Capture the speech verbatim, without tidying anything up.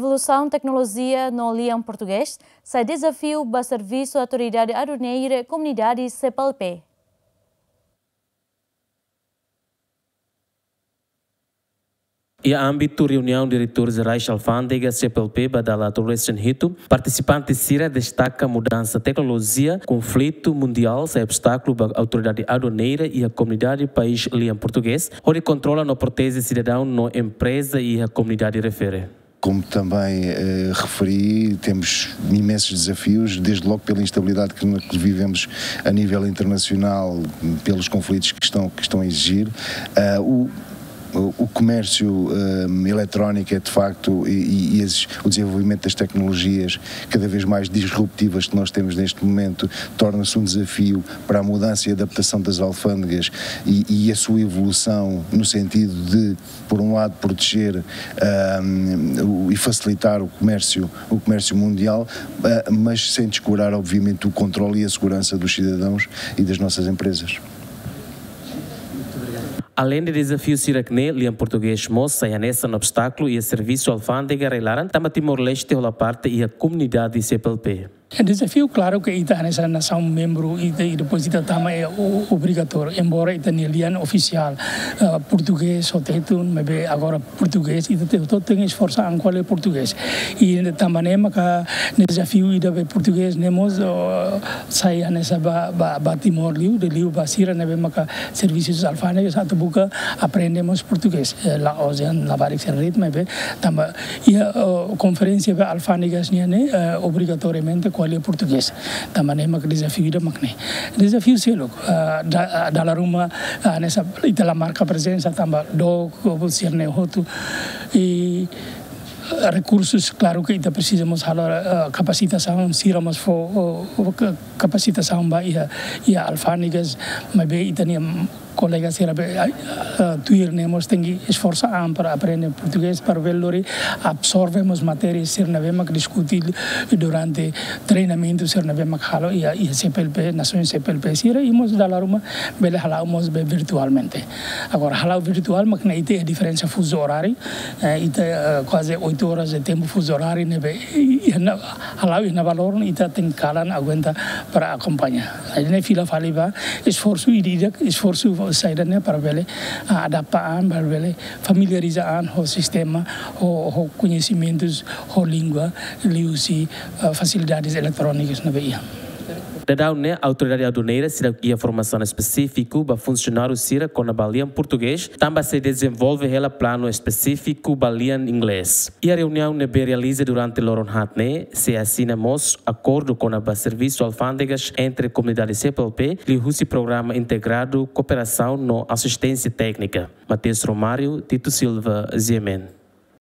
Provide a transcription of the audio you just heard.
Solusaun teknolojia no lian portugés sai dezafiu ba servisu autoridade aduaneira komunidade C P L P. Iha ámbitu reuniaun diretór jerais alfándega C P L P ba dala tolresin hitu, partisipante sira destaka mudansa teknolojia, konflitu mundiál sai obstákulu ba autoridade aduaneira iha komunidade país lian portugés, hodi kontrola no proteje sidadaun no empreza iha komunidade refere. Como também, eh, referi, temos imensos desafios, desde logo pela instabilidade que, que vivemos a nível internacional, pelos conflitos que estão, que estão a exigir. Ah, o, o comércio, eh, eletrónico é, de facto, e, e, e esses, o desenvolvimento das tecnologias cada vez mais disruptivas que nós temos neste momento torna-se um desafio para a mudança e adaptação das alfândegas e, e a sua evolução no sentido de, por um lado, proteger, ahm, o, e facilitar o comércio, o comércio mundial, ah, mas sem descurar, obviamente, o controle e a segurança dos cidadãos e das nossas empresas. Aleinde dezafiu sira-ne'e, lian portugés mós sai hanesan obstákulu iha servisu alfándega rai-laran, tanba Timor-Leste hola parte iha komunidade C P L P. Dezafiu, klaru ke ita hanesan nasaun membru, ita, i depois ita tama iha o-, obrigatóriu, embora ita-nia lian ofisiál, ah, portugés, hotu-hotu, maibé agora portugés, ita te-, hotu-hotu tenke esforsa an ko'alia portugés. I tanba ne'e maka dezafiu ida be portugés ne'e mós, oh, sai hanesan ba, ba, ba Timor liu, de liu ba sira ne'ebé maka servisu alfándega atu buka aprende mós portugés. Eh, la'ós dehan labarik sira de'it, maibé tanba iha, oh, konferénsia be alfándegas nian ne'e, eh, obrigatoriamente ko'alia portugés. Tanba ne'e maka dezafiu ida mak ne'e. Dezafiu seluk, ah, da-, ah, dala ruma, ah, hanesan ita la marka prezensa tanba dook, sira-ne'e hotu. I rekursus, klaru ke ita presiza mós halo, eh, kapasitasaun, sira mós fó, oh, oh, ka-, kapasitasaun ba iha, iha alfándegas, maibé ita-nia, mm, kolega sira be, ai, eh, tuir ne'e mós tenke esforsa an para aprende portugés, para bele lori absorve mós matéria sira ne'ebé mak diskute durante treinamentu sira ne'ebé mak halo iha, iha C P L P, nasaun C P L P sira, i mós dala ruma bele hala'o mós be virtualmente. Agora, hala'o virtuál mak ne'e ita iha diferensa fuzu oráriu, eh, ita, eh, kuaze oitu oras de tempu fuzu oráriu ne'ebé, i, i, na, hala'o iha ne'ebá loron ita tenke kalan aguenta para akompaña. Ida-ne'e fila fali ba esforsu ida-idak, esforsu saida ne'e para bele, ah, adapta an, para bele familiariza an ho sistema, ho, ho koñesimentus, ho língua, liuhusi, ah, fasilidades eletrónikas ne'ebé iha. Daudaun ne'e, autoridade aduaneira sira iha formasaun espesífiku ba funsionáriu sira kona-ba lian portugés, tanba sei dezenvolve hela planu espesífiku ba lian inglés. Iha reuniaun ne'ebé realiza durante loron haat ne'e, sei asina mós akordu kona-ba servisu alfándegas entre komunidade C P L P, liuhusi programa integradu kooperasaun no asisténsia téknika. Mateus Romário, Tito Silva, G M N.